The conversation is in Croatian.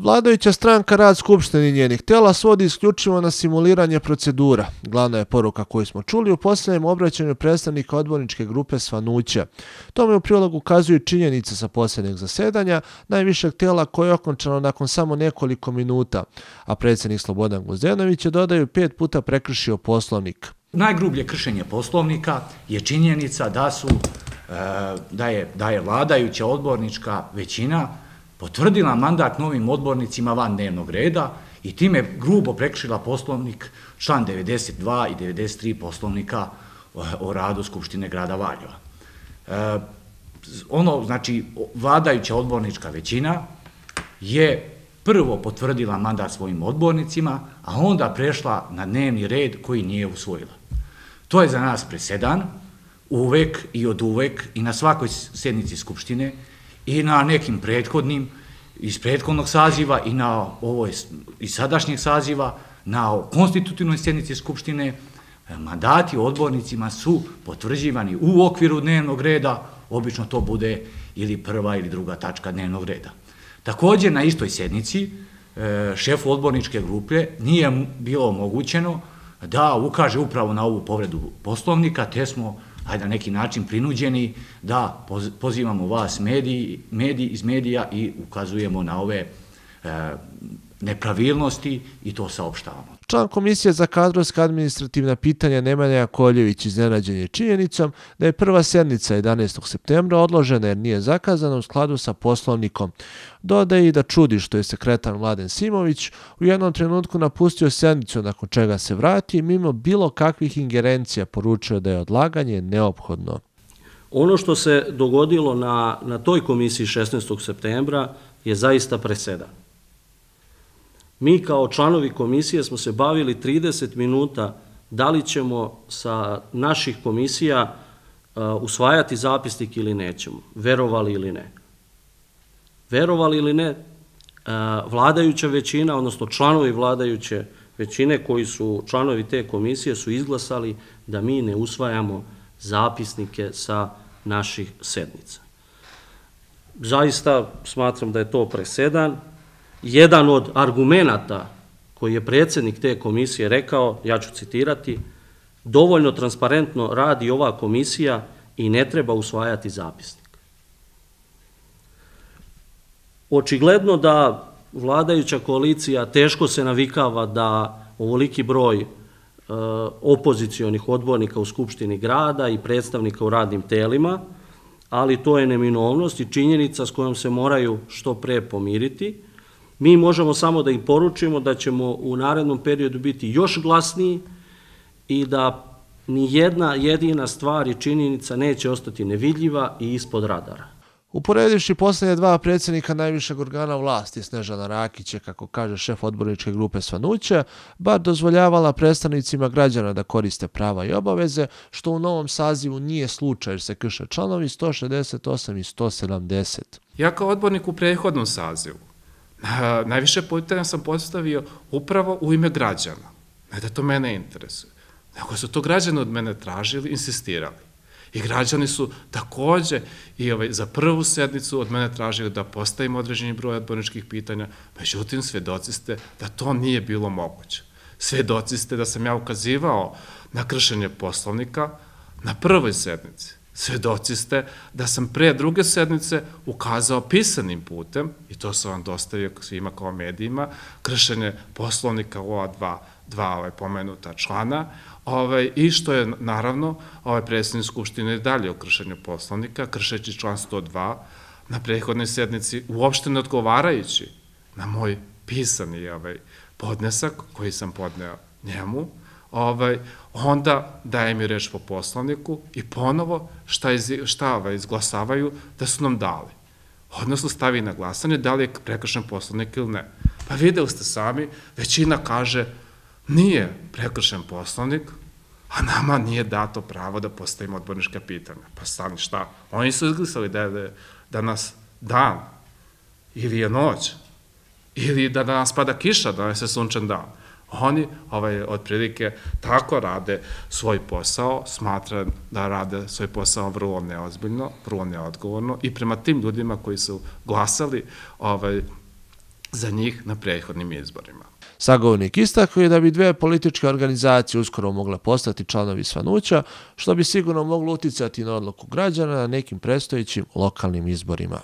Vladajuća stranka rad Skupštine i njenih tela svodi isključivo na simuliranje procedura. Glavna je poruka koju smo čuli u posljednjem obraćanju predstavnika odborničke grupe Svanuća. Tome u prilog ukazuju činjenice sa posljednjeg zasedanja najvišeg tela koje je okončano nakon samo nekoliko minuta, a predsjednik Slobodan Gvozdenović je, dodaju, 5 puta prekršio Poslovnik. Najgrublje kršenje Poslovnika je činjenica da je vladajuća odbornička većina potvrdila mandat novim odbornicima van dnevnog reda i time grubo prekršila Poslovnik, član 92 i 93 Poslovnika o radu Skupštine grada Valjeva. Znači, vladajuća odbornička većina je prvo potvrdila mandat svojim odbornicima, a onda prešla na dnevni red koji nije usvojila. To je za nas presedan, uvek i od uvek i na svakoj sjednici Skupštine i na nekim prethodnim, iz prethodnog saziva i na ovoj iz sadašnjeg saziva, na konstitutivnoj sjednici Skupštine, mandati odbornicima su potvrđivani u okviru dnevnog reda, obično to bude ili prva ili druga tačka dnevnog reda. Također, na istoj sjednici šefu odborničke grupe nije bilo omogućeno da ukaže upravo na ovu povredu Poslovnika, te smo na neki način prinuđeni da pozivamo vas iz medija i ukazujemo na ove nepravilnosti i to saopštavamo. Član Komisije za kadrovska administrativna pitanja Nemanja Jakovljević iznenađen je činjenicom da je prva sjednica 11. septembra odložena jer nije zakazana u skladu sa Poslovnikom. Dodaje i da čudi što je sekretar Mladen Simović u jednom trenutku napustio sjednicu, nakon čega se vrati mimo bilo kakvih ingerencija, poručio da je odlaganje neophodno. Ono što se dogodilo na toj komisiji 16. septembra je zaista presedan. Mi kao članovi komisije smo se bavili 30 minuta da li ćemo sa naših komisija usvajati zapisnik ili nećemo, verovali ili ne. Verovali ili ne, vladajuća većina, odnosno članovi vladajuće većine koji su članovi te komisije su izglasali da mi ne usvajamo zapisnike sa naših sednica. Zaista smatram da je to presedan. Jedan od argumenata koji je predsjednik te komisije rekao, ja ću citirati, dovoljno transparentno radi ova komisija i ne treba usvajati zapisnik. Očigledno da vladajuća koalicija teško se navikava da ovoliki broj opozicionih odbornika u Skupštini grada i predstavnika u radnim telima, ali to je neminovnost i činjenica s kojom se moraju što pre pomiriti. Mi možemo samo da im poručimo da ćemo u narednom periodu biti još glasniji i da ni jedna jedina stvar i činjenica neće ostati nevidljiva i ispod radara. Uporedivši posljednje 2 predsjednika najvišeg organa vlasti, Snežana Rakić je, kako kaže šef odborničke grupe Svanuća, bar dozvoljavala predstavnicima građana da koriste prava i obaveze, što u novom sazivu nije slučaj jer se krše članovi 168 i 170. Ja kao odbornik u prethodnom sazivu najviše pitanja sam postavio upravo u ime građana. Ne da to mene interesuje, nego su to građani od mene tražili, insistirali. I građani su također i za prvu sednicu od mene tražili da postavim određeni broj odborničkih pitanja, međutim svedoci ste da to nije bilo moguće. Svedoci ste da sam ja ukazivao na kršenje Poslovnika na prvoj sednici. Svedoci ste da sam pre druge sednice ukazao pisanim putem, i to sam vam dostavio svima kao medijima, kršenje Poslovnika u ova dva pomenuta člana, i što je naravno predsjednik Skupštine i dalje o kršenju Poslovnika, kršeći član 102 na prethodnoj sednici, uopšte ne odgovarajući na moj pisani podnesak koji sam podneo njemu, onda daje mi reč po Poslovniku i ponovo šta izglasavaju da su nam dali. Odnosno stavi na glasanje da li je prekršen Poslovnik ili ne. Pa videli ste sami, većina kaže nije prekršen Poslovnik, a nama nije dato pravo da postavimo odbornička pitanja. Pa stani šta? Oni su izglasali da je danas dan, ili je noć, ili da danas pada kiša, danas je sunčan dan. Oni otprilike tako rade svoj posao, smatram da rade svoj posao vrlo neozbiljno, vrlo neodgovorno i prema tim ljudima koji su glasali za njih na prethodnim izborima. Sagovornik istakao je da bi dvije političke organizacije uskoro mogle postati članovi Svanuća, što bi sigurno moglo uticati na odluku građana na nekim predstojećim lokalnim izborima.